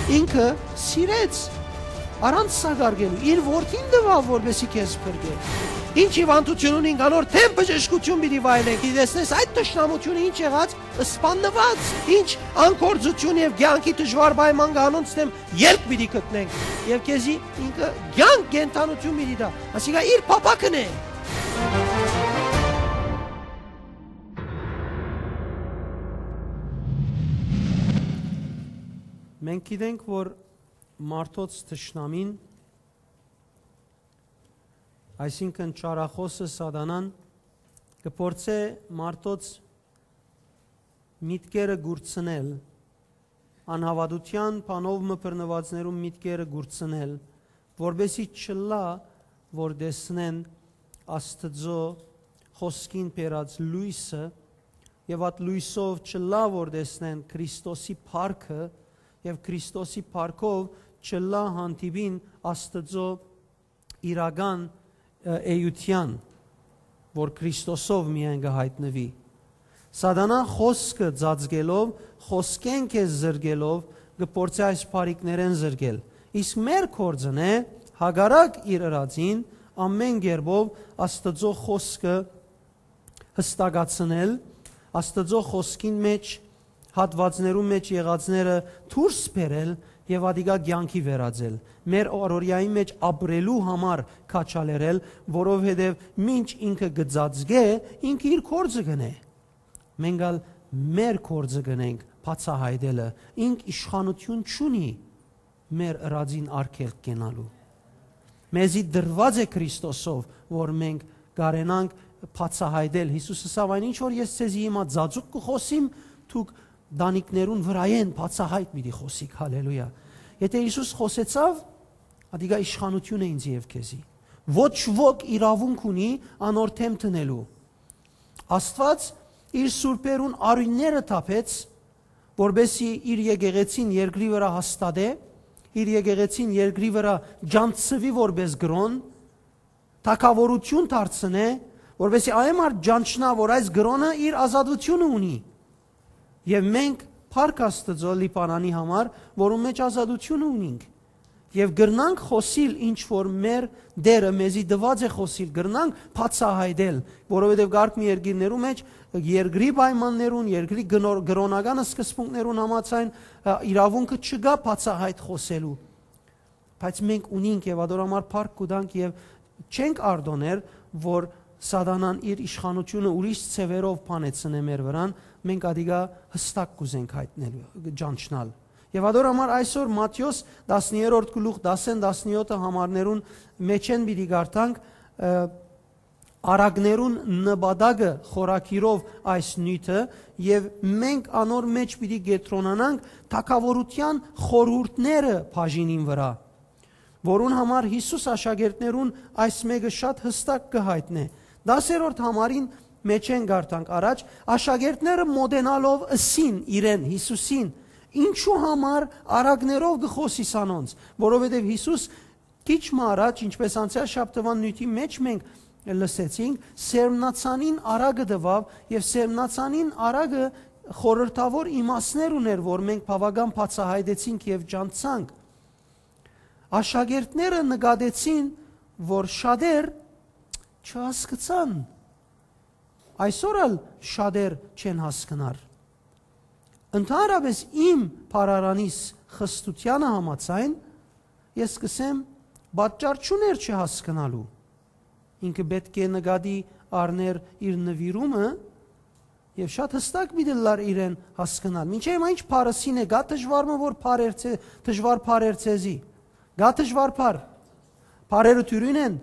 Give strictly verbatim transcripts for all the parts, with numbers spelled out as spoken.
Ինքը սիրեց, առանց սակարկելու, իր որդին տուաւ, որպեսզի քեզ փրկէ։ Ինչ հիւանդութիւն ունինք, անոր դէմ բժշկութիւն պիտի վայելենք։ Դի տեսնես այդ թշնամութիւնը ինչ եղած, սպաննուած, ինչ անգործութիւն եւ կեանքի դժուար պայման կա անոնց դէմ, ելք պիտի գտնենք։ Եւ քեզի ինքը կեանք, կենդանութիւն պիտի տայ։ Ասիկա իր փափաքն է։ Մենք գիտենք, որ մարդոց թշնամին, այսինքն՝ չարախօսը Սատանան, կը փորձէ մարդոց միտքերը կուրցնել, անհաւատութեան բանով մը բռնուածներուն միտքերը կուրցնել, որպեսզի չըլլայ որ տեսնեն Աստուծոյ խօսքին բերած լոյսը, եւ այդ լոյսով չըլլայ որ տեսնեն Քրիստոսի փառքը, եւ Քրիստոսի փառքով չըլլայ հանդիպին Աստուծոյ իրական, ը, էութեան, որ Քրիստոսով միայն կը յայտնուի։ Սատանան խօսքը ծածկելով, խօսքէն քեզ զրկելով, կը փորձէ այս բարիքներէն զրկել։ Իսկ մեր գործն է, հակառակ իր ըրածին, ամեն կերպով Աստուծոյ խօսքը յստակացնել, Աստուծոյ խօսքին մէջ, հատուածներուն մէջ եղածները դուրս բերել եւ ատիկա կեանքի վերածել, մեր օրօրեային մէջ ապրելու համար քաջալերել, որովհետեւ մինչ ինքը կը ծածկէ, ինքը իր գործը կ'ընէ։ Մենք ալ մեր գործը կ'ընենք բացայայտելը, ինք իշխանութիւն չունի մեր ըրածին արգելք կենալու։ Մեզի տրուած է Քրիստոսով, որ մենք կարենանք բացայայտել։ Յիսուս ըսաւ. «Այն ինչ որ ես ձեզի հիմա ծածուկ կը խօսիմ, դուք տանիքներուն վրայէն բացայայտ պիտի խօսիք»։ Հալելույա։ Եթէ Յիսուս խօսեցաւ, ատիկա իշխանութիւն է ինձ եւ քեզի։ Ոչ ոք իրաւունք ունի անոր դէմ դնելու։ Աստուած իր սուրբերուն արիւնները թափեց, որպեսզի իր եկեղեցին երկրի վրայ հաստատէ, իր եկեղեցին երկրի վրայ ճանչցուի որպէս կրօն, թագաւորութիւն դարձնէ, որպեսզի այն մարդ ճանչնայ, որ այս կրօնը իր ազատութիւնը ունի։ Եւ մենք փառք Աստուծոյ Լիբանանի համար, որուն մէջ ազատութիւնը ունինք։ Եւ կրնանք խօսիլ ինչ որ մեր Տէրը մեզի տուած է խօսիլ, կրնանք բացայայտել, որովհետեւ կարգ մի երկիրներու մէջ երկրի պայմաններուն, երկրի կնոր-, կրօնական սկզբունքներուն համաձայն, ը, իրաւունքը չկայ բացայայտ խօսելու։ Բայց մենք ունինք եւ ատոր համար փառք կու տանք եւ չենք արտօներ, որ Սատանան իր իշխանութիւնը ուրիշ ձեւերով բանեցնէ մեր վրան, մենք ատիկա յստակ կ'ուզենք յայտնել, ճանչնալ։ Եւ ատոր համար այսօր Մատթէոս տասներորդ գլուխ, տասեն, տասնյոթը համարներուն մէջէն պիտի կարդանք, ը, արագներուն նպատակը խորագիրով այս նիւթը, եւ մենք անոր մէջ պիտի կեդրոնանանք թագաւորութեան խորհուրդները բաժինին վրայ, որուն համար Յիսուս աշակերտներուն այս մէկը շատ յստակ կը յայտնէ։ Տասերորդ համարին մէջէն կարդանք առաջ, աշակերտները մոտենալով ըսին իրեն, Յիսուսին. «Ինչու համար արագներով կը խօսիս անոնց»։ Որովհետեւ Յիսուս քիչ մը առաջ, ինչպես անցեալ շաբթուան նիւթի մէջ մենք լսեցինք, սերմնացանին արագը տուաւ եւ սերմնացանին արագը խորհրդաւոր իմաստներ ունէր, որ մենք բաւական բացայայտեցինք եւ ճանչցանք։ Աշակերտները նկատեցին, որ շատեր չհասկցան։ Այսօր ալ շատեր չեն հասկնար։ Ընդհանրապես իմ բառարանիս խստութեանը համաձայն, ես կ'ըսեմ, պատճառ չունէր չհասկնալու։ Ինքը պէտք է նկատի առնէր իր նուիրումը եւ շատ յստակ պիտի ըլլար իրեն հասկնալ։ Մինչեւ հիմա ինչ բառ ըսին է, կա՞ դժուար մը, որ բառեր ցե-, դժուար բառեր ցեզի։ Կա՞ դժուար բառ։ Բառերը դիւրին են։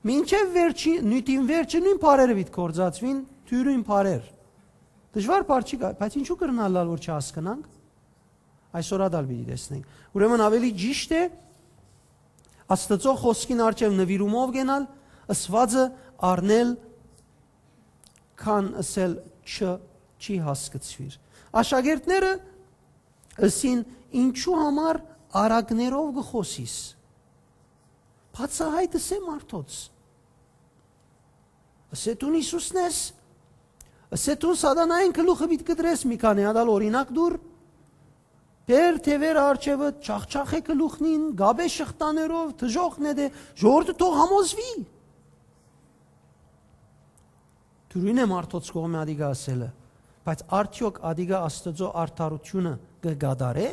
Մինչեւ վերջի, նիւթին վերջը նոյն բառերը պիտի գործածուին, դիւրին բառեր։ Դժուար բառ չի գա, բայց ինչու՞ կրնալ ըլլալ որ չհասկնանք։ Այսօր ատալ պիտի տեսնենք։ Ուրեմն ավելի ճիշդ է Աստուծոյ խօսքին առջեւ նուիրումով գնալ, ըսուածը առնել, քան ըսել՝ «Չ-, չի հասկցուիր»։ Աշակերտները ըսին. «Ինչու համար արագներով կը խօսիս»։ Բացայայտ ըսէ մարդոց։ Ըսէ դուն Յիսուսն ես, ըսէ դուն Սատանային գլուխը պիտի կտրես, մի քանի հատ ալ օրինակ դուր։ Տէր թեւերը առջեւը, չախչախէ գլուխնին, գաբէ շղթաներով, դժոխք նետէ, ժողովուրդը թող համոզուի։ Դուրին է մարդոց կողմէ ատիկա ասելը, բայց արդեօք ատիկա Աստուծոյ արդարութիւնը կը կատարէ՞,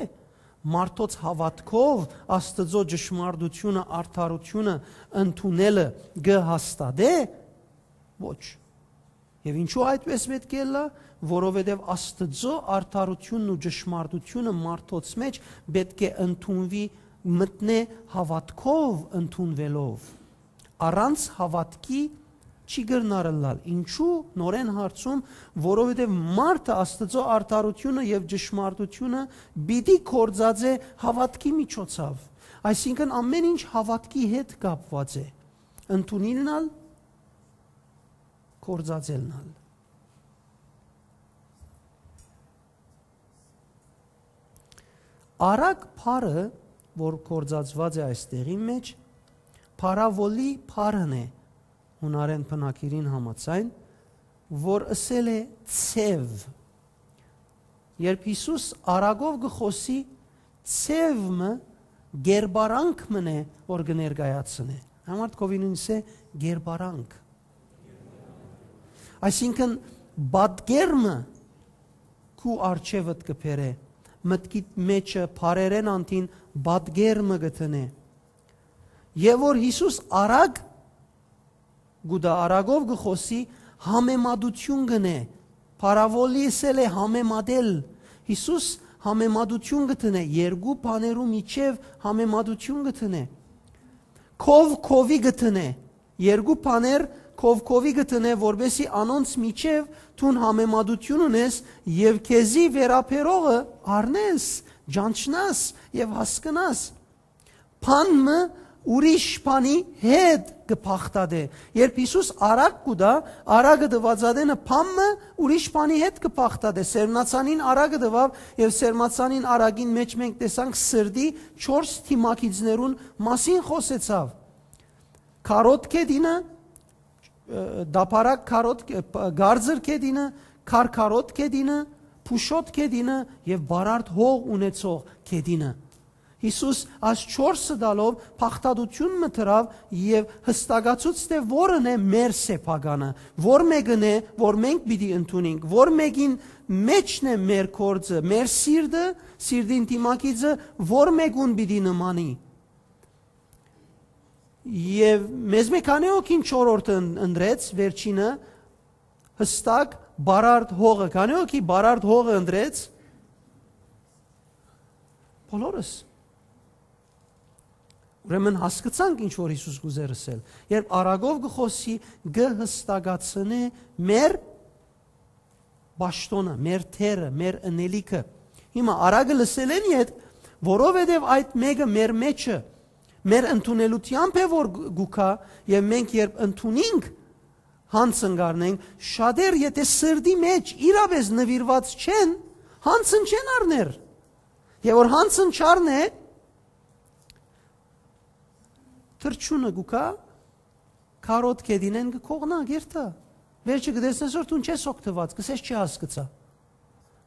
մարդոց հաւատքով Աստուծոյ ճշմարտութիւնը, արդարութիւնը ընդունելը կը հաստատէ՞։ Ոչ։ Եւ ինչու այդպես պէտք է ըլլայ, որովհետեւ Աստուծոյ արդարութիւնն ու ճշմարտութիւնը մարդոց մէջ պէտք է ընդունուի, մտնէ հաւատքով ընդունուելով։ Առանց հաւատքի չի կրնար ըլլալ։ Ինչու՞, նորէն հարցում, որովհետեւ մարդը Աստուծոյ արդարութիւնը եւ ճշմարտութիւնը պիտի գործածէ հաւատքի միջոցաւ։ Այսինքն, ամէն ինչ հաւատքի հետ կապուած է, ընդունիլն ալ, գործածելն ալ։ Արագ բառը, որ գործածուած է այս տեղին մէջ, փարաւոլի բառն է, յունարէն բնագիրին համաձայն, որ ըսել է՝ «Ձեւ»։ Երբ Յիսուս արագով կը խօսի, ձեւ մը, կերպարանք մըն է, որ կը ներկայացնէ։ Համար քովինունս է կերպարանք։ Այսինքն, պատկերմը քու առջեւդ կը բերէ, մտքիդ մէջը բառերէն անդին պատկերմը կը դնէ։ Եւ որ Յիսուս արագ կու տայ, արագով կը խօսի, համեմատութիւն կ'ընէ, փարաւոլի ըսել է համեմատել։ Յիսուս համեմատութիւն կը դնէ, երկու բաներու միջեւ համեմատութիւն կը դնէ։ Քով քովի կը դնէ, երկու բաներ քով քովի կը դնէ, որպէսզի անոնց միջեւ դուն համեմատութիւն ունես եւ քեզի վերաբերողը առնես, ճանչնաս եւ հասկնաս։ Բան մը ուրիշ բանի հետ կը բաղդատէ։ Երբ Յիսուս արագ կու տայ, արագը տուած ատենը բան մը ուրիշ բանի հետ կը բաղդատէ։ Սերմնացանին արագը տուաւ եւ սերմնացանին արագին մէջ մենք տեսանք սրտի չորս դիմագիծներուն մասին խօսեցաւ։ Քարոտ գետինը, ը, դափարակ քարոտ, ը, ਪ-, գարձր գետինը, քարքարոտ գետինը, փուշոտ գետինը եւ բարարդ հող ունեցող գետինը։ Յիսուս այս չորսը տալով բաղդատութիւն մը դրաւ եւ յստակացուց թէ որն է մեր սեփականը, որ մէկն է, որ մենք պիտի ընդունենք, որ մէկին մէջն է մեր կորձը, մեր սիրտը, սիրտին դիմագիծը, որ մէկուն պիտի նմանի։ Եւ մեզմէ քանի՞ հոգին չորրորդը ըն-, ընտրեց, վերջինը, յստակ, բարարդ հողը, քանի՞ հոգի բարարդ հողը ընտրեց։ Բոլորս։ Ուրեմն հասկցանք ինչ որ Յիսուս կ'ուզէր ըսել։ Երբ արագով կը խօսի, կը յստակացնէ մեր պաշտոնը, մեր դերը, մեր ընելիքը։ Հիմա արագը լսելէն յետ, որովհետև այդ մէկը մեր մեջը, մեր ընդունելութեամբ է որ գ-, գուքա, եւ մենք երբ ընդունինք, հանցն կ'առնենք, շատեր, եթե սրտի մեջ իրապես նվիրված չեն, հանցն չեն առներ։ Եւ որ հանցն չառնէ, թռչունը գուքա, քարոտ գետինէն կը կողնայ, կ'երթայ։ Վերջը կը տեսնես որ դուն չես օգտուած, կ'ըսես չի հասկցայ։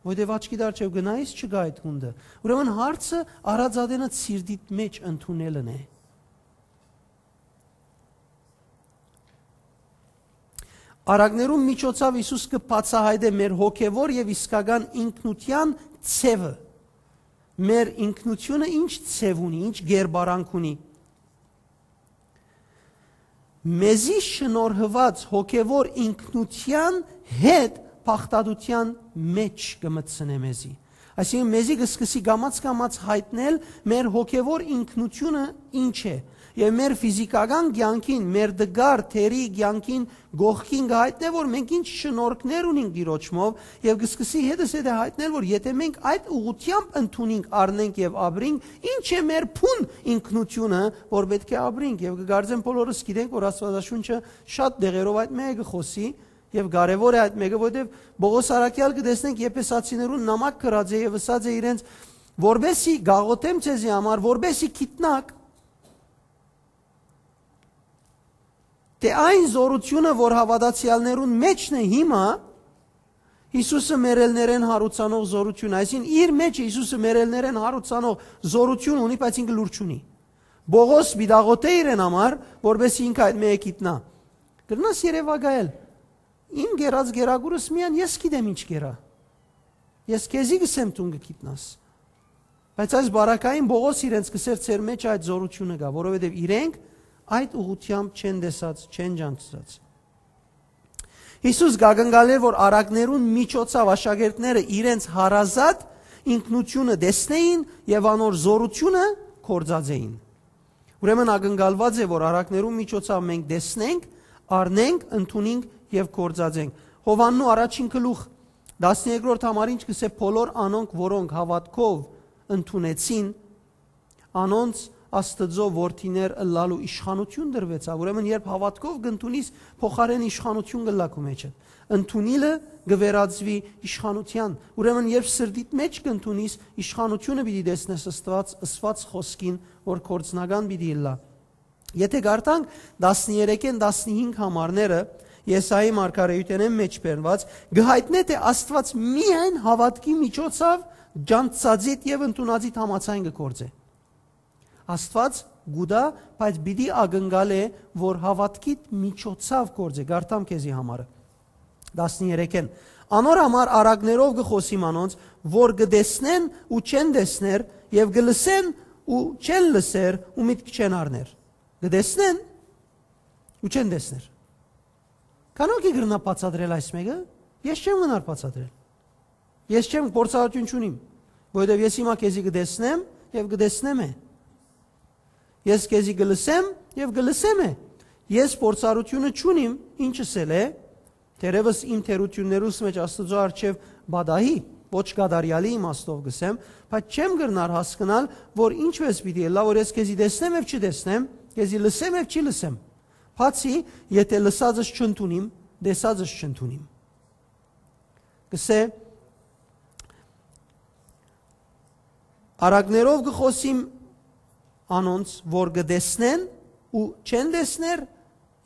Որտեւ աչքիդ առջեւ գնայիս չկայ այդ հունդը։ Ուրեմն հարցը առած ատենը սիրտիդ մեջ ընդունելն է։ Արագներուն միջոցաւ Յիսուս կը բացայայտէ մեր հոգեվոր եւ իսկական ինքնութեան ձևը։ Մեր ինքնությունը ինչ ձև ունի, ինչ կերպարանք ունի։ Մեզի շնորհուած հոգեվոր ինքնութեան հետ բաղդատութեան մեջ կը մտցնէ մեզի։ Այսինքն, մեզի կը սկսի կամաց-կամաց յայտնել մեր հոգեվոր ինքնությունը ինչ է, եւ մեր ֆիզիկական կեանքին, մեր տկար թերի կեանքին կողքին կը յայտնէ, որ մենք ինչ շնորհքներ ունենք Տիրոջմով, եւ կը սկսի հետս հետը յայտնել, որ եթե մենք այդ ուղղությամբ ընդունենք, առնենք եւ ապրենք, ինչ է մեր բուն ինքնությունը, որ պէտք է ապրենք, եւ կը կարծեմ բոլորս գիտենք, որ Աստուածաշունչը շատ դեղերով այդ մէկը կը խօսի, եւ կարեւոր է այդ մէկը, որտեւ Պողոս առաքյալ կը տեսնենք Եփեսացիներուն նամակ գրած է եւ ըսած է իրենց, որպեսի գաղութեմ ձեզի համար, որպեսի գիտնաք, թէ այն զորությունը, որ հաւատացեալներուն մեջն է հիմա, Հիսուսը մեռելներէն յարուցանող զօրութիւն, այսինքն իր մէջ Հիսուսը մեռելներէն յարուցանող զօրութիւն ունի, բայց ինքը լուր չունի։ Պողոս պիտի աղօթէ իրեն համար, որպէս ինքը այդ մէկը գիտնայ։ Կրնաս երեւակայել. «Իմ կերած կերակուրս միայն ես գիտեմ ինչ կերա։ Ես քեզի կ'ըսեմ, դուն կը գիտնաս»։ Բայց այս բարակային Պողոս իրենց կ'ըսէր. «Ձեր մէջ այդ զօրութիւնը կայ, որովհետեւ իրենք այդ ուղղութեամբ չեն տեսած, չեն ճանչցած»։ Յիսուս կ'ակնկալէ, որ առակներուն միջոցաւ աշակերտները իրենց հարազատ ինքնութիւնը տեսնէին եւ անոր զօրութիւնը գործածէին։ Ուրեմն ակնկալուած է, որ առակներուն միջոցաւ մենք տեսնենք, առնենք, ընդունենք եւ գործածենք։ Յովհաննու առաջին գլուխ, տասներկրորդ համար ինչ կ'ըսէ. «Բոլոր անոնք, որոնք հաւատքով ընդունեցին, անոնց Աստուծոյ որդիներ ըլլալու իշխանութիւն տրուեցաւ»։ Ուրեմն երբ հաւատքով կ'ընդունիս, փոխարէն իշխանութիւն կ'ըլլայ քու մէջդ։ Ընդունիլը կը վերածուի իշխանութեան։ Ուրեմն երբ սրտիդ մէջ կ'ընդունիս, իշխանութիւնը պիտի տեսնես Աստուած, ըսուած խօսքին, որ գործնական պիտի ըլլայ։ Եթէ կարդանք տասներեքէն տասնհինգ համարները, Եսայի մարգարէութենէն մէջ բերուած, կը յայտնէ թէ Աստուած միայն հաւատքի միջոցաւ ճանչցածիդ եւ ընդունածիդ համաձայն կը գործէ։ Աստուած կու տայ, բայց պիտի ակնկալէ, որ հաւատքիդ միջոցաւ գործէ։ Կարդամ քեզի համարը։ Տասներեքէն. «Անոր համար առակներով կը խօսիմ անոնց, որ կը տեսնեն ու չեն տեսներ, եւ կը լսեն ու չեն լսեր ու միտք չեն առներ»։ Կը տեսնեն ու չեն տեսներ։ Քանո՞ք կրնայ բացատրել այս մէկը։ Ես չեմ գնար բացատրել։ Ես չեմ, փորձառութիւն չունիմ, որովհետեւ ես հիմա քեզի կը տեսնեմ եւ կը տեսնեմ է։ Ես քեզի կը լսեմ եւ կը լսեմ է։ Ես փորձառութիւնը չունիմ, ինչս ալ է, թերեւս իմ թերութիւններուս մէջ Աստուծոյ առջեւ պատահի, ոչ կատարեալի իմաստով կ'ըսեմ, բայց չեմ կրնար հասկնալ, որ ինչպէս պիտի ըլլայ, որ ես քեզի տեսնեմ եւ չտեսնեմ, քեզի լսեմ եւ չի լսեմ, բացի եթէ լսածս չընդունիմ, տեսածս չընդունիմ։ Կ'ըսէ. «Առակներով կը խօսիմ անոնց, որ կը տեսնեն ու չեն տեսներ,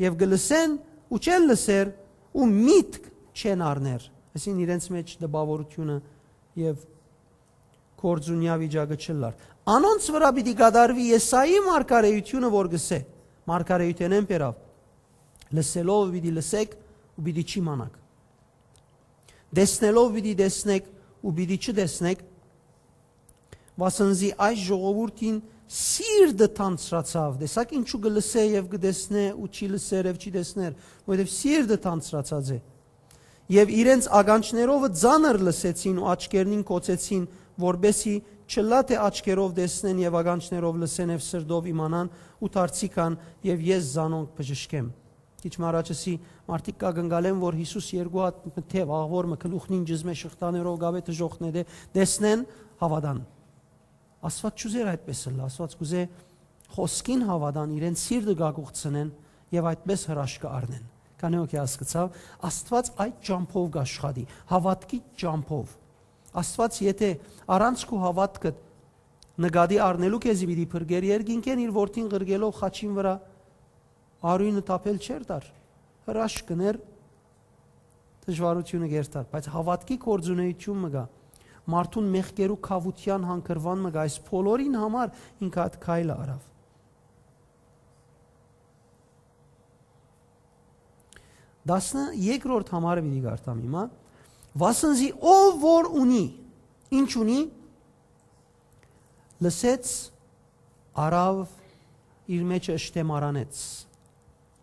եւ կը լսեն ու չեն լսեր ու միտք չեն առներ»։ Այսինքն իրենց մէջ տպաւորութիւնը եւ գործունեայ վիճակը չըլլար։ Անոնց վրայ պիտի կատարուի Եսայի մարգարէութիւնը, որ կ'ըսէ, մարգարէութենէն բերաւ. «Լսելով պիտի լսեք ու պիտի չիմանաք։ Տեսնելով պիտի տեսնեք ու պիտի չտեսնեք, վասն զի այս ժողովուրդին սիրտը թանձրացաւ»։ Տեսա՞ք ինչու կը լսէ եւ կը տեսնէ ու չի լսեր եւ չի տեսներ, որովհետեւ սիրտը թանձրացած է։ «Եւ իրենց ականջներովը ծանր լսեցին ու աչքերնին կոծեցին, որպեսզի չըլլայ թէ աչքերով տեսնեն եւ ականջներով լսեն եւ սրտով իմանան ու դարձի գան, եւ ես զանոնք բժշկեմ»։ Քիչ մը առաջ ըսի, մարդիկ կ'ակնկալեն, որ Յիսուս երկու հատ մը թեւ, աղուոր մը, գլուխնին ճզմէ շղթաներով կ'աւէ դժոխնէ, դե տեսնեն, հաւատան։ Աստուած չուզեր այդպէս ըլլայ, Աստուած կուզէ խօսքին հաւատան, իրենց սիրտը կ'ակուղցնեն եւ այդպէս հրաշքը առնեն։ Քանի՞ հոգի հասկցաւ, Աստուած այդ ճամբով կ'աշխատի, հաւատքի ճամբով։ Աստուած եթէ առանց քու հաւատքդ նկատի առնելու քեզի պիտի փրկեր, երկինքէն իր որդին ղրկելով խաչին վրայ արիւնը թափել չէր տար, հրաշք կ'ընէր, դժուարութիւնը կ'երթար, բայց հաւատքի գործունեութիւն մը կայ, մարդուն մեղքերու քաւութեան հանգրուան մը կայ, այս բոլորին համար ինքը այդ քայլը առաւ։ Տասներկրորդ համարը պիտի կարդամ հիմա. «Վասն զի ով որ ունի, ինչ ունի, լսեց, առաւ, իր մէջը ըշտեմարանեց,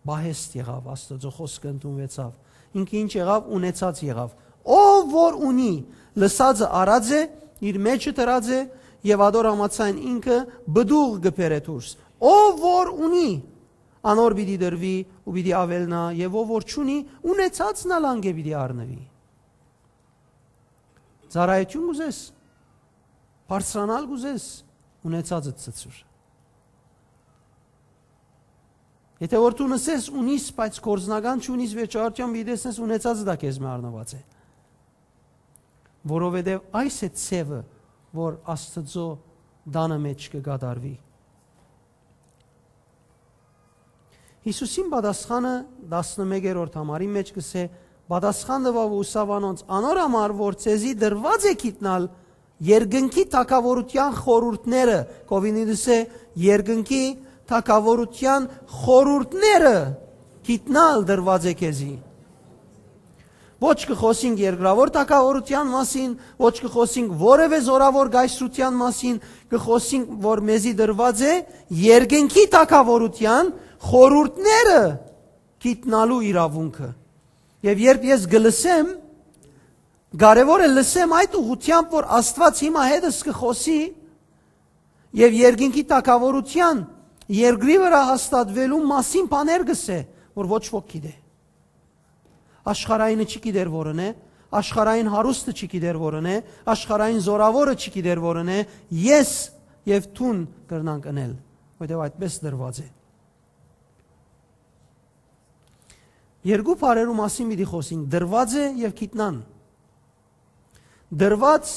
պահեստ եղաւ, Աստուծոյ խօսքը ընդունուեցաւ, ինքը ինչ եղաւ, ունեցած եղաւ։ Ով որ ունի, լսածը առած է, իր մէջը դրած է, եւ ատոր համաձայն ինքը պտուղ կը բերէ դուրս։ Ով որ ունի, անոր պիտի տրուի ու պիտի աւելնայ, եւ ով որ չունի, ունեցածն ալ անկէ պիտի առնուի»։ Ծառայութիւն կ'ուզես, բարձրանալ կ'ուզես, ունեցածդ ցցուր։ Եթէ որ դու նսես, ունիս, բայց գործնական չունիս, վերջավորութեան պիտի տեսնես, ունեցածը դա քեզմէ առնուած է։ Որովհետեւ այս է ձեւը, որ Աստուծոյ տանը մէջ կը կատարուի։ Յիսուսին պատասխանը տասնմեկերորդ համարի մէջ կ'ըսէ. Պատասխան տուաւ ու ըսաւ անոնց. «Անոր համար որ ձեզի տրուած է գիտնալ երկնքի թագաւորութեան խորհուրդները», կովինիդս է, «երկնքի թագաւորութեան խորհուրդները գիտնալ տրուած է քեզի»։ Ոչ կը խօսինք երկրաւոր թագաւորութեան մասին, ոչ կը խօսինք որեւէ զորաւոր կայսրութեան մասին, կը խօսինք, որ մեզի տրուած է երկնքի թագաւորութեան խորհուրդները գիտնալու իրաւունքը։ Եւ երբ ես կը լսեմ, կարեւոր է լսեմ այդ ուղղությամբ, որ Աստուած հիմա հետս կը խօսի եւ երկինքի թագաւորութեան երկրի վրայ հաստատուելու մասին բաներ կ'ըսէ, որ ոչ ոք գիտէ։ Աշխարհայինը չի գիտեր որն է, աշխարհային հարուստը չի գիտեր որն է, աշխարհային զորաւորը չի գիտեր որն է, ես եւ դուն կրնանք ընել, որտեղ այդպես դրված է։ Երկու բառերու մասին պիտի խօսինք. դրված է եւ գիտնան։ Դրված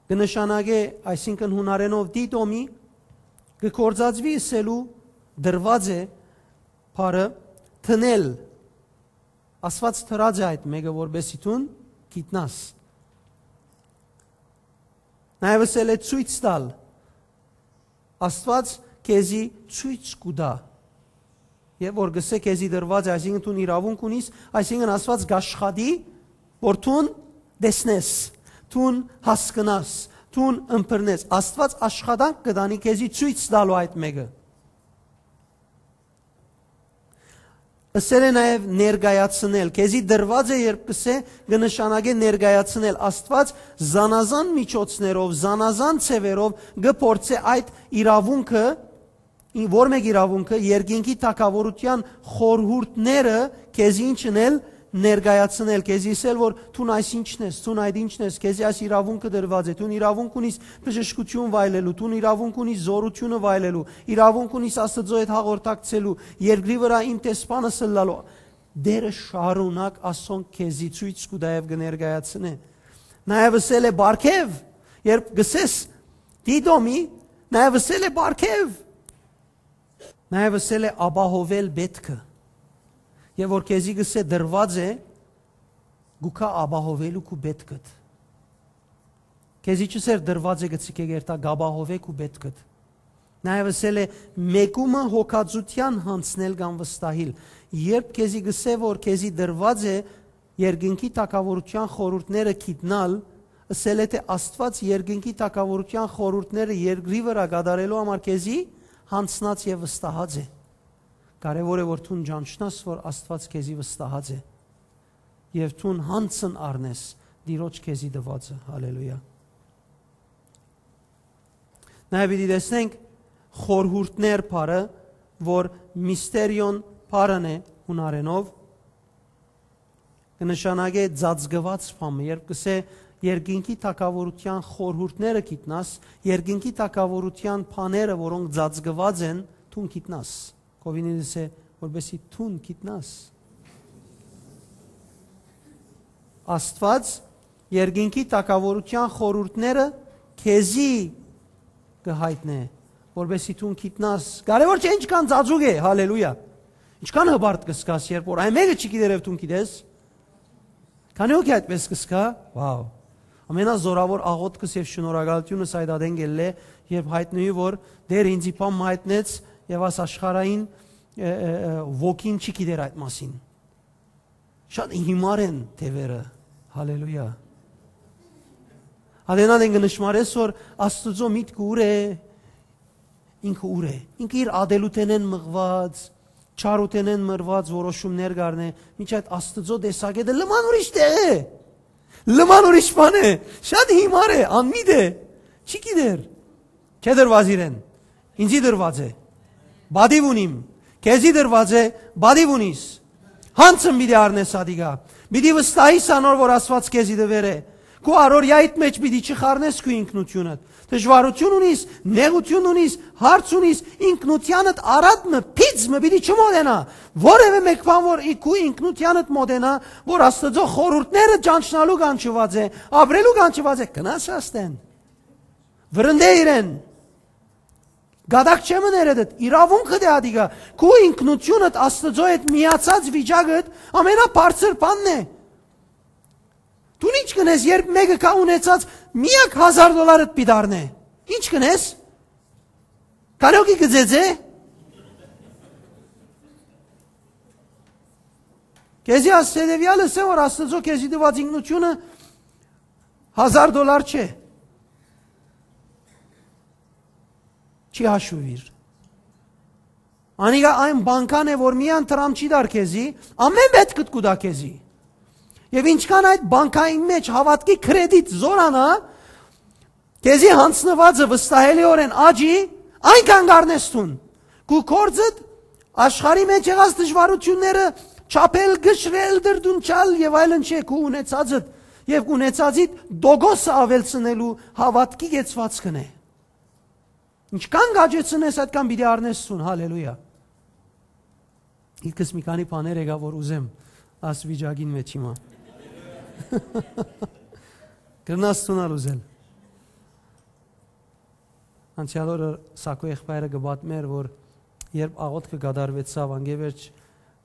կը նշանակէ, այսինքն, հունարենով դիտոմի, կը գործածուի ըսելու դրված է բառը դնել։ Աստուած դրած է այդ մէկը, որպեսզի դուն գիտնաս։ Նաեւ ըսել է ցոյց տալ։ Աստուած քեզի ցոյց կու տայ։ Եւ որ գսե քեզի դրված է, այսինքն դուն իրաւունք ունիս, այսինքն Աստուած կ'աշխատի, որ դուն տեսնես, դուն հասկնաս, դուն ըմբռնես։ Աստուած աշխատանք կը տանի քեզի ցոյց տալու այդ մէկը։ Ըսել է նաեւ ներկայացնել։ Քեզի դրված է, երբ կ'ըսէ, կը նշանակէ ներկայացնել։ Աստուած զանազան միջոցներով, զանազան ձեւերով կը փորձէ այդ իրաւունքը, ին-, որ մէկ իրաւունքը, երկինքի թագաւորութեան խորհուրդները քեզի ինչ ընել, ներկայացնել, քեզի ըսել, որ դուն այս ինչն ես, դուն այդ ինչն ես, քեզի այս իրաւունքը դրված է, դուն իրաւունք ունիս բժշկութիւն վայելելու, դուն իրաւունք ունիս զօրութիւնը վայելելու, իրաւունք ունիս Աստուծոյ հետ հաղորդակցելու, երկրի վրայ իմ տեսփանս ըլլալու։ Տէրը շարունակ ասոնք քեզի ցոյց կու տայ եւ կը ներկայացնէ։ Նաեւ ըսել է պարգեւ, երբ գսես դիտոմի, նաեւ ըսել է պարգեւ, նաեւ ըսել է ապահովել պէտքը։ Եւ որ քեզի գսէ դրված է, գուքա ապահովելու քու պէտքդ։ Քեզի չ'ըսեր դրված է, գցի կերտա, կ'ապահովէ քու պէտքդ։ Նաեւ ըսել է, մեկումը հոգածութեան յանձնել կամ վստահիլ։ Երբ քեզի գսէ, որ քեզի դրված է երկինքի թագաւորութեան խորհուրդները գիտնալ, ըսել է, թէ Աստուած երկինքի թագաւորութեան խորհուրդները երկրի վրայ կատարելու համար քեզի յանձնած եւ վստահած է։ Կարեւոր է, որ դուն ճանչնաս, որ Աստուած քեզի վստահած է, եւ դուն յանձն առնես Տիրոջ քեզի տուածը։ Հալելույա։ Նաեւ պիտի տեսնենք խորհուրդներ բառը, որ միստերիոն բառն է հունարենով, կը նշանակէ ծածկուած բան մը, երբ կ'ըսէ, երկինքի թագաւորութեան խորհուրդները գիտնաս, երկինքի թագաւորութեան բաները, որոնք ծածկուած են, դուն գիտնաս։ Կովինիդս է, որպեսի դուն գիտնաս։ Աստուած երկինքի թագաւորութեան խորհուրդները քեզի կը յայտնէ, որպեսի դուն գիտնաս։ Կարեւոր չէ ինչքան ծածուկ է, հալելույա։ Ինչքան հպարտ կը զգաս, երբ որ այն մեկը չի գիտեր եւ դուն գիտես։ Քանի՞ հոգի այդպես կը զգայ, վաու։ Ամենազորաւոր աղօթքս եւ շնորհակալութիւնս այդ ատեն կ'ելլէ, երբ յայտնուի, որ Տէր ինձի բան մը յայտնեց եւ աս աշխարհային, ը, ը, ը, ոգին չի գիտեր այդ մասին։ Շատ հիմար են թեւերը։ Հալելույա։ Ատենան են կը նշմարես, որ Աստուծոյ միտքը ուր է, ինքը ուր է։ Ինքը իր ատելութենէն մղուած, չարութենէն մղուած որոշումներ կ'առնէ, մինչ այդ Աստուծոյ տեսակետը լման ուրիշ տեղ է։ Լման ուրիշ բան է։ Շատ հիմար է, անմիտ է։ Չի գիտեր։ Չէ դրված իրեն։ Ինձի դրված է։ Բադիվ ունիմ։ Քեզի դրված է, բադիվ ունիս։ Յանցն պիտի առնես ատիկա։ Պիտի վստահիս անոր, որ Աստուած քեզի տուեր է։ Քու առօրյայիդ մէջ պիտի չխառնես քու ինքնութիւնդ։ Դժուարութիւն ունիս, նեղութիւն ունիս, հարց ունիս, ինքնութեանդ առատ մը, փից մը պիտի չմոտենա։ Որևէ մէկ բան, որ ի-, քու ինքնութեանդ մոտենա, որ Աստուծոյ խորհուրդները ճանչնալու կանչուած է, ապրելու կանչուած է, կնաս աստեն։ Վրընդէ իրեն։ Գատակ չէ մը ներեդդ, իրաւունքդ է ատիկա։ Քու ինքնութիւնդ Աստուծոյ հետ միացած վիճակդ ամենաբարձր բանն է։ Դուն ի՞նչ կ'ընես, երբ մէկը կայ ունեցած միակ հազար դոլարդ պիտի առնէ։ Ի՞նչ կ'ընես։ Կարեոքի կը ձեձե։ Քեզի ասեցեալ ըսե, որ Աստուծոյ քեզի տուած ինքնութիւնը հազար դոլար չէ։ Չի հաշուիր։ Անիկա այն բանկան է, որ միան Թրամփ չի տար քեզի, ամէն պետք կու տայ քեզի։ Եւ ինչքան այդ բանկային մեջ հաւատքի կրեդիտ զորանայ, քեզի յանձնուածը վստահելիօրէն աճի, այնքան կ'առնես դուն։ Քու գործդ, աշխարհի մեջ եղած դժուարութիւնները չափել, կշռել, դրդունչալ եւ այլն չէ, քու ունեցածդ եւ ունեցածիդ տոկոսը աւելցնելու հաւատքի կեցուածքն է։ Ինչքան կ'աճեցնես, այդքան պիտի առնես դուն, հալելույա։ Ինքս մի քանի բաներ եկայ, որ ուզեմ աս վիճակին մեջ հիմա։ Կրնաս դուն ալ ուզել։ Անցեալ օրը Սակո եղբայրը կը պատմէր, որ երբ աղօթքը կատարուեցաւ, անկէ վերջ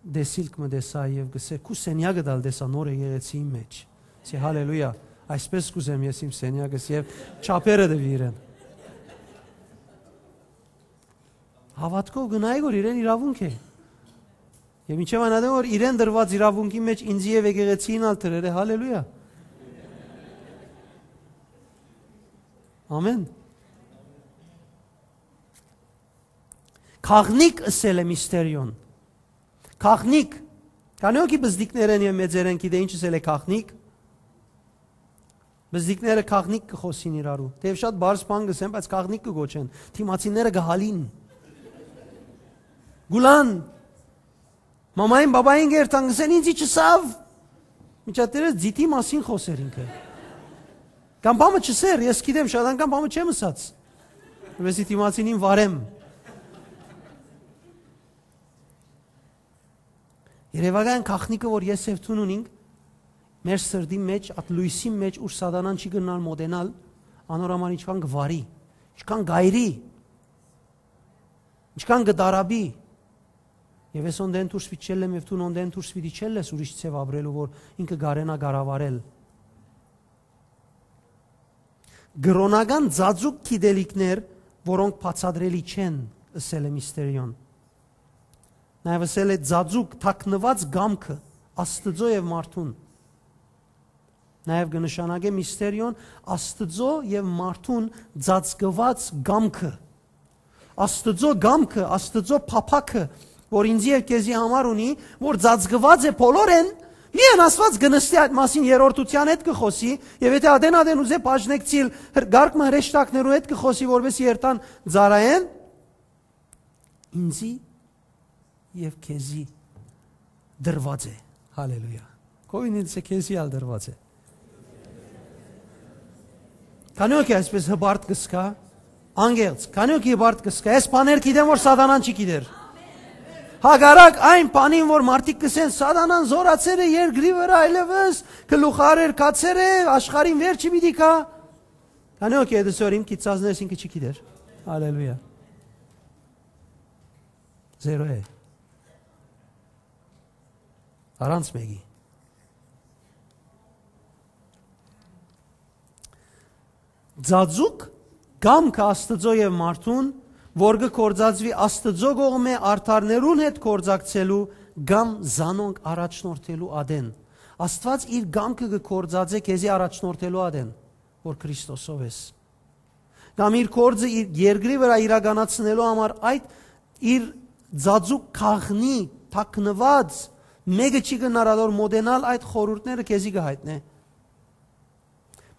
դեսիլք մը տեսայ եւ կ'ըսէ, քու սենեակդ ալ տեսայ նոր եկեղեցիին մեջ։ Ասի, հալելույա, այսպես կ'ուզեմ ես իմ սենեակս, եւ չափերը տուի իրեն։ Հաւատքով կը նայ, որ իրեն իրաւունք է։ Եւ մինչեւ այն ատեն, որ իրեն տրուած իրաւունքի մեջ ինձի եւ եկեղեցիին ալ դրեր է, հալելույա։ Ամեն։ Գաղտնիք ըսել է Միստերիոն։ Գաղտնիք։ Քանի՞ հոգի բզդիկներէն եւ մեծերէն գիտէ ինչ ըսել է գաղտնիք։ Բզդիկները գաղտնիք կը խօսին իրարու։ Թեեւ շատ բարձ բան կ'ըսեն, բայց գաղտնիք կը կոչեն։ Դիմացինները կը հալին։ Գուլան։ Մամային, բաբային կ'երթան, կ'ըսեն, «Ինձի չըսաւ»։ Միջատերես ձիթի մասին խօսեր ինքը։ Կամ բամը չ'ըսեր, ես գիտեմ, շատ անգամ բամը չեմ ըսած, որպեսզի դիմացինին վարեմ։ Երևակայան գաղտնիքը, որ ես եւ դուն ունինք մեր սրտի մեջ, այդ լոյսի մեջ, ուր սատանան չի կրնար մոտենալ, անոր համար ինչքան կը վարի, ինչքան կ'այրի, ինչքան կը տարապի։ Եւ ես օնդեն դուրս պիտի չելլեմ, եւ դուն օնդեն դուրս պիտի չելլես ուրիշ ձեւ ապրելու, որ ինքը կարենայ կառավարել։ Կրօնական ծածուկ գիտելիքներ, որոնք բացատրելի չեն, ըսել է Միստերիոն։ Նաեւ ըսել է, ծածուկ, թաքնուած կամքը Աստուծոյ եւ մարդուն։ Նաեւ կը նշանակէ Միստերիոն Աստուծոյ եւ մարդուն ծածկուած կամքը։ Աստուծոյ կամքը, Աստուծոյ փափաքը, որ ինձի եւ քեզի համար ունի, որ ծածկուած է բոլորէն, միայն Աստուած կը նստի այդ մասին, երրորդութեան հետ կը խօսի, եւ եթէ ատեն-ատեն ուզէ բաժնեկցիլ, հր-, կարգ մը հրեշտակներու հետ կը խօսի, որպեսզի երթան ծառայեն, ինձի եւ քեզի տրուած է։ Հալելույա։ Քովին ինձ է, քեզի ալ տրուած է։ Քանի՞ հոգի այսպես հպարտ կը զգայ, անգերց, քանի՞ հոգի հպարտ կը զգայ, այս բաներ գիտեմ, որ սատանան չի գիտեր։ Հակառակ այն բանին, որ մարդիկ կ'ըսեն, սատանան զորացեր է երկրի վրա, այլեւս գլուխարեր կացեր է, աշխարհին վերջը պիտի գայ։ Քանի՞ հոգի է դսոր իմ գիծածներս ինքը չի գիտեր։ Հալելույա։ Զերո է։ Առանց մեկի։ Ծածուկ կամքը Աստուծոյ եւ մարդուն, որ կը գործածուի Աստուծոյ կողմէ արդարներուն հետ գործակցելու կամ զանոնք առաջնորդելու ատեն։ Աստուած իր կամքը կը գործածէ քեզի առաջնորդելու ատեն, որ Քրիստոսով ես։ Կամ իր գործը իր երկրի վրա իրականացնելու համար այդ իր ծածուկ գաղտնի, թաքնուած, մեկը չի կրնար ատոր մոտենալ, այդ խորհուրդները քեզի կը հայտնէ։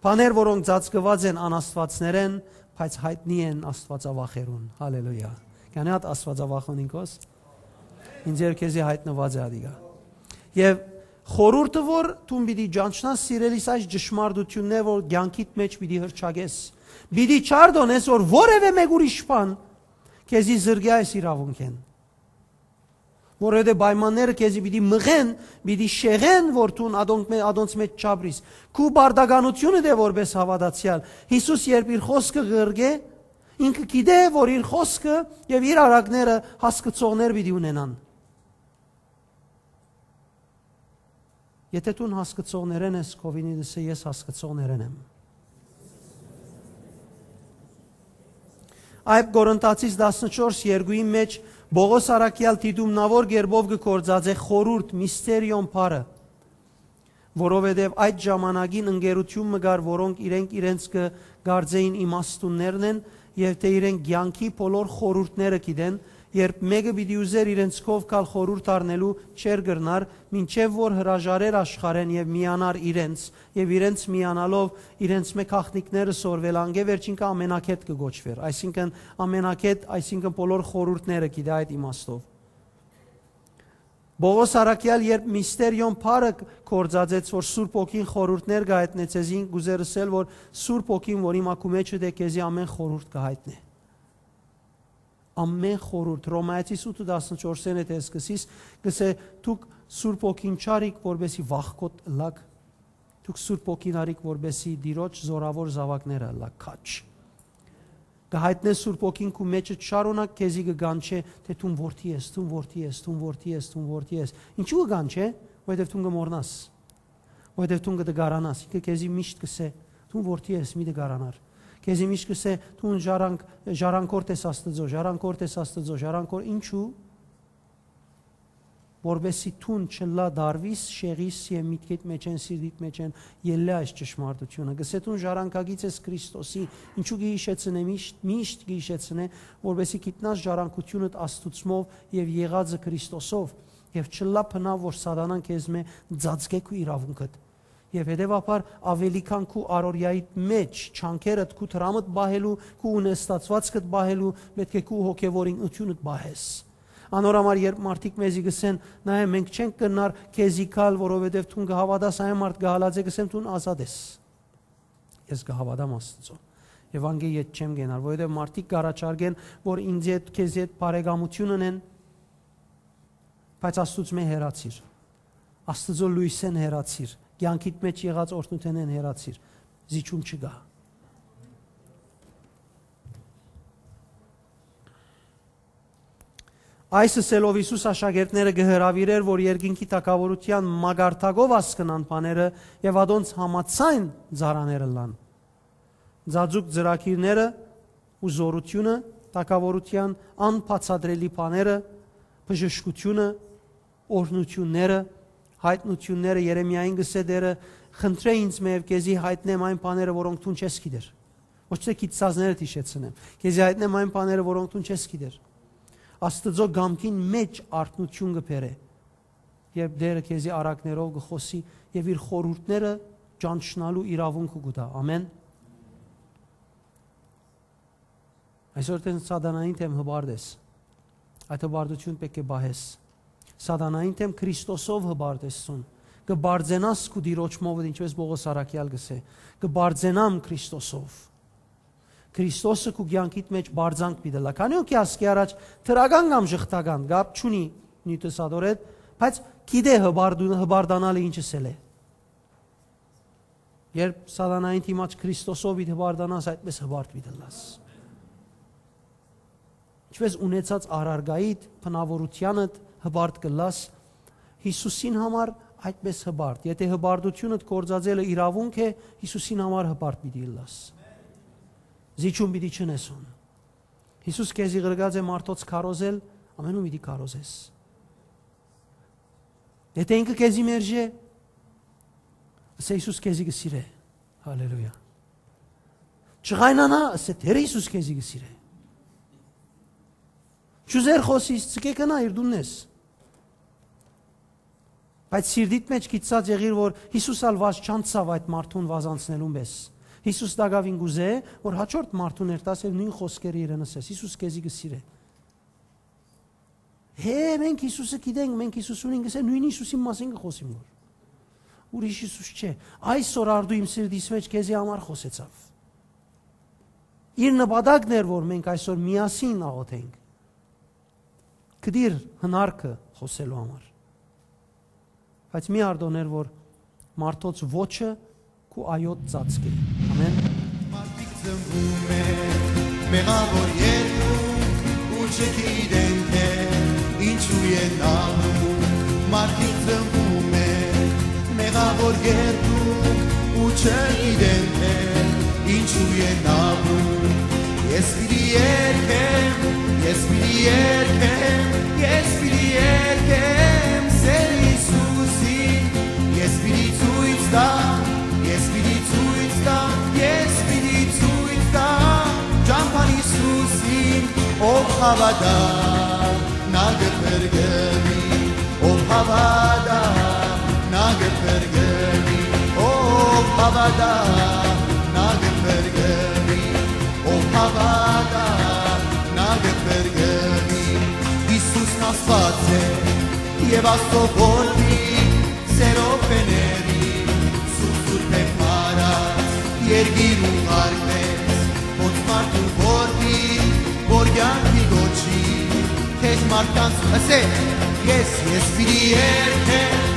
Բաներ, որոնք ծածկուած են անաստուածներէն, բայց յայտնի են աստուածավախերուն։ Հալելույա։ Քանի՞ հատ աստուածավախ ունին քոս։ Ինձ եւ քեզի յայտնուած է ադիգա։ Եւ խորհուրդը, որ դուն պիտի ճանչնաս, սիրելիս, այս ճշմարտություններ, որ կյանքիդ մեջ պիտի հրճակես։ Պիտի չարդոնես, որ որևէ մեկ ուրիշ բան քեզի զրկի այս իրաւունքէն։ Որովհետեւ պայմանները քեզի պիտի մղեն, պիտի շեղեն, որ դուն ադոնք մե-, ադոնց մեջ չապրիս։ Քու պարտականությունդ է որպես հաւատացեալ։ Յիսուս երբ իր խոսքը ղրկէ, Ինքը գիտէ որ իր խօսքը եւ իր արագները հասկցողներ պիտի ունենան։ Եթե դուն հասկցողներէն ես, քովինի դսե ես հասկցողներէն եմ։ Այդ Կորինթացիս տասնչորս երկուին մեջ Պողոս առաքեալ դիտումնաւոր կերպով կը գործածէ խորհուրդ, միստերիոն բառը, որովհետեւ այդ ժամանակին ընկերութիւն մը կար, որոնք իրենք իրենց կը կարծէին իմաստուններն են, եւ թէ իրենք կեանքի բոլոր խորհուրդները գիտեն, երբ մէկը պիտի ուզէր իրենց քով գալ խորհուրդ առնելու, չէր կրնար, մինչեւ որ հրաժարեր աշխարհէն եւ միանար իրենց, եւ իրենց միանալով իրենց մէ գաղտնիքները սորվել, անկէ վերջինքը ամենագետ կը կոչուէր, այսինքն՝ ամենագետ, այսինքն՝ բոլոր խորհուրդները գիտէ այդ իմաստով։ Պողոս առաքեալ երբ միստերիոն բառը գործածեց, որ Սուրբ Հոգին խորհուրդներ կը հայտնէ ձեզի, կ'ուզէր ըսել, որ Սուրբ Հոգին, որ հիմա քու մէջդ է, քեզի ամէն խորհուրդ կը հայտնէ։ Ամէն խորհուրդ, Հռոմայեցիս ութը տասնչորսէն հետ է սկսիս, կ'ըսէ. «Դուք Սուրբ Հոգին չարիք, որպեսզի վախկոտ ըլլաք, դուք Սուրբ Հոգին արիք, որպեսզի Տիրոջ զօրաւոր զաւակները ըլլաք»։ Քաչ։ Կը հայտնէ Սուրբ Հոգին քու մէջը շարունակ քեզի կը կանչէ, թէ դուն որդի ես, դուն որդի ես, դուն որդի ես, դուն որդի ես։ Ինչու՞ կը կանչէ, որովհետեւ դուն կը մոռնաս, որովհետեւ դուն կը տկարանաս։ Ինքը քեզի միշտ կ'ըսէ. «Դուն որդի ես, մի տկարանար»։ Քեզի միշտ կ'ըսէ. «Դուն ժառանգ-, ժառանգորդ ես Աստուծոյ, ժառանգորդ ես Աստուծոյ, ժառանգորդ»։ Ինչու՞։ Որպեսզի դուն չլա դարվիս, շեղիս եւ միտքիդ մէջէն, սիրտիդ մէջէն ելլէ այս ճշմարտութիւնը։ Կ'ըսէ. «Դուն ժառանգագիծ ես Քրիստոսի»։ Ինչու՞ կը յիշեցնէ, միշտ, միշտ կը յիշեցնէ, որպեսզի գիտնաս ժառանգութիւնդ Աստուծմով եւ եղածը Քրիստոսով, եւ չլա բնաւ որ սատանան քեզմէ ծածկէ քու իրաւունքդ։ Եւ հետեւաբար ավելի քան քու առօրեայիդ մէջ, չանքերդ, քու դրամդ պահելու, քու ունեստացուածքդ պահելու, պէտք է քու հոգեւոր ինքնութիւնդ պահես։ Անոր համար երբ մարդիկ մեզի կ'ըսեն. «Նայէ, մենք չենք կրնար քեզի գալ, որովհետեւ դուն կը հաւատաս», այն մարդ կը հալածէ, կ'ըսեմ. «Դուն ազատ ես»։ Ես կը հաւատամ Աստուծոյ։ Եվ անկէ ետ չեմ կենար, որովհետեւ մարդիկ կ'առաջարկեն, որ ինձի հետ, քեզի հետ բարեկամութիւն ընեն, բայց Աստուծմէ հեռացիր։ Աստուծոյ լոյսէն հեռացիր, կեանքիդ մէջ եղած օրհնութենէն հեռացիր, զիջում չկայ։ Այս ըսելով Յիսուս աշակերտները կը հրաւիրէր, որ երկինքի թագաւորութեան մակարդակով հասկնան բաները եւ ատոնց համաձայն ծառաներ ըլլան։ Ծածուկ ծրագիրները ու զօրութիւնը, թագաւորութեան անբացատրելի բաները, բժշկութիւնը, օրհնութիւնները, յայտնութիւնները, Երեմիային կ'ըսէ Տէրը. «Խնդրէ ինձ մէ եւ քեզի յայտնեմ այն բաները, որոնք դուն չես գիտեր»։ Ոչ թէ գիտցածներդ յիշեցնեմ։ Քեզի յայտնեմ այն բաները, որոնք դուն չես գիտեր։ Աստուծոյ կամքին մէջ արթնութիւն կը բերէ, երբ Տէրը քեզի առակներով կը խօսի եւ իր խորհուրդները ճանչնալու իրաւունքը կու տայ։ Ամեն։ Այսօր դեն սատանային դէմ հպարտ ես։ Այդ հպարտութիւն պէտք է պահես։ Սատանային դէմ Քրիստոսով հպարտ ես դուն։ Կը պարծենաս քու Տիրոջմովդ, ինչպես Պողոս առաքեալ կ'ըսէ. «Կը պարծենամ Քրիստոսով»։ Քրիստոսը քու կեանքիդ մէջ պարծանք պիտի լա։ Քանի՞ հոգի ասկի առաջ դրական կամ ժխտական կապ չունի նիւթը սատորետ, բայց գիտէ հպարտ-, հպարտանալը ինչ ըսել է։ Երբ սատանային դիմաց Քրիստոսով պիտի հպարտանաս, այդպես հպարտ պիտի լաս։ Ինչպես ունեցած առարկայիդ, բնաւորութեանդ հպարտ կը լաս, Յիսուսին համար այդպես հպարտ։ Եթե հպարտութիւնդ գործածելը իրաւունք է, Յիսուսին համար հպարտ պիտի լաս։ Զիջում պիտի չնես հոն։ Յիսուս քեզի ղրկած է մարդոց քարոզել, ամենու պիտի քարոզես։ Եթե ինքը քեզի մերժէ, ըսէ Յիսուս քեզի կը սիրէ։ Հալելույա։ Չղայնանայ, ըսէ Տէրը Յիսուս քեզի կը սիրէ։ Չուզեր խօսիս, ցկէ կնայ, իր տունն ես։ Բայց սիրտիդ մէջ գիտցած եղիր, որ Յիսուս ալ վազ չանցաւ այդ մարդուն վազ անցնելուն պէս։ Յիսուս տակաւին կ'ուզէ, որ հաջորդ մարդուն երթաս եւ նոյն խօսքերը իրեն ըսես. «Յիսուս քեզի կը սիրէ»։ Հե, մենք Յիսուսը գիտենք, մենք Յիսուս ունենք, ըսէ, նոյն Յիսուսին մասին կը խօսիմ որ։ Ուրիշ Յիսուս չէ։ Այսօր արդու իմ սիրտիս մէջ քեզի համար խօսեցաւ։ Իր նպատակն էր, որ մենք այսօր միասին աղոթենք։ Գտիր հնարքը խօսելու համար։ Բայց մի արտոներ, որ մարդոց ոչը քու այոտ ծածկէ։ Ամեն։ Մարդիկ ծնվում են, Մեղաւոր երկու ու չգիտեն, թե ինչու են ալու, մարդիկ տրմբում են։ Մեղաւոր երկու ու չգիտեն, թե ինչու են ալու։ Ես պիտի երգեմ, ես պիտի երգեմ, ես պիտի երգեմ Սեր Յիսուսին։ Ես պիտի ցոյց տամ, ես պիտի ցոյց տամ, ես պիտի ցոյց տամ ճամբան Յիսուսին, ով հաւատայ, նա կը փրկուի, ով հաւատայ, նա կը փրկուի, ով հաւատայ, նա կը փրկուի, ով հաւատայ, նա կը փրկուի։ Յիսուսն Աստուած է եւ Աստուծոյ Որդի, սերով փեների, սուրբ սուրբէն փառաց, երկիր ուղարկեց, ոնց մարդու որդի, որ կեանքի կոչի, քեզ մարդկանց ըսե, ես, ես պիտի երգեմ,